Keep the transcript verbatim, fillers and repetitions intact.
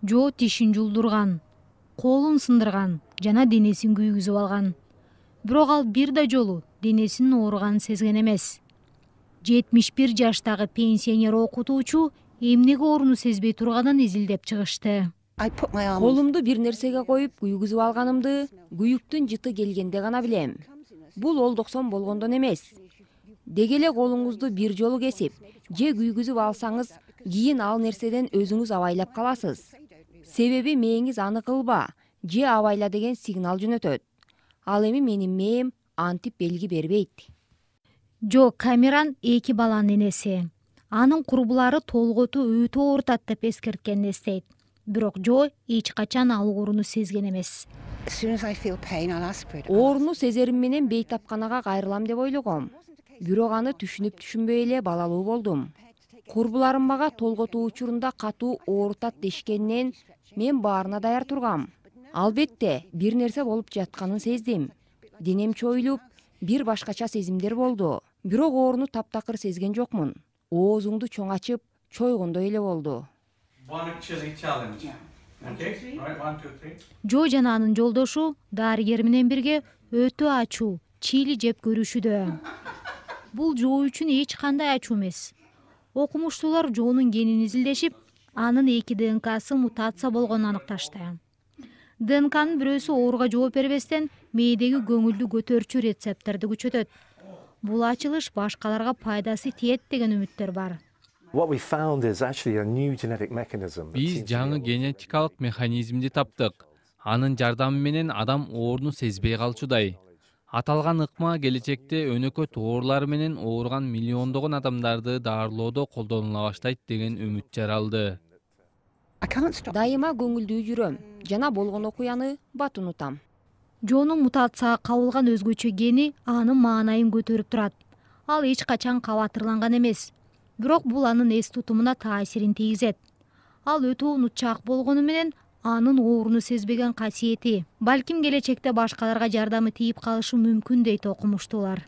Жо тишин жулдурган, колун сындырган жана денесин күйгүзүп алган. Бирок ал бир да жолу денесинин ооруганын сезген эмес. жетимиш бир жаштагы пенсионер окутуучу эмнеге ооруну сезбей турганын изилдеп чыгышты. Колумду бир нерсеге коюп күйгүзүп алганымды күйүктүн жыты келгенде гана билем. Бул олдоксон болгондон эмес. Деги эле колуңузду бир жолу кесип же күйгүзүп алсаңыз, кийин ал нерседен өзүңүз абайлап каласыз. Себеби мээңиз аны кылба же абайла деген сигнал жөнөтөт. Ал эми менин мээм антип белги бербейт. Жо Камеран эки баланын энеси. Анын курбулары толготу өтө оорутат деп эскерткенин эстейт. Бирок Жо эч качан ал ооруну сезген эмес. Ооруну сезерим менен бейтапканага кайрылам деп ойлогом. Бирок аны түшүнүп түшүнбөй эле балалуу болдум. Курбуларым мага толготуу учурунда катуу оорутат дешкенинен мен баарына даяр тургам. Албетте, бир нерсе болуп жатканын сездим. Денем чоюлуп, бир башкача сезимдер болду. Бирок ооруну таптакыр сезген жокмун. Оозуңду чоң ачып, чойгондой эле болду. Жо жана анын жолдошу дарыгер менен бирге өтө ачуу чили жеп көрүшүдө. Бул Жо үчүн эч кандай ачуу эмес. Окумуштуулар Жонун генин изилдешип, анын эки ДНКсы мутация болгонун аныкташты. ДНКнын бирөөсү ооруга жооп бербестен мээдеги көңүлдү көтөрчү рецепторду күчөтөт. Бул ачылыш башкаларга пайдасы тиет деген үмүттөр бар. Биз жаңы генетикалык механизмди таптык. Анын жардамы менен адам ооруну сезбей калчудай. Аталган ыкма келечекте өнөкөт оорулар менен ооруган миллиондогон адамдарды даарылоодо колдонула баштайт деген үмүт жаралды. Дайыма көңүлдүү жүрөм жана болгон окуяны бат унутам. Жонун мутацияга кабылган өзгөчө гени анын маанайын көтөрүп турат. Ал эч качан кабатырланган эмес. Бирок бул анын эс тутумуна таасирин тийгизет. Ал өтө унутчаак болгону менен анын ооруну сезбеген касиети балким келечекте башкаларга жардамы тийип калышы мүмкүн дейт окумуштуулар.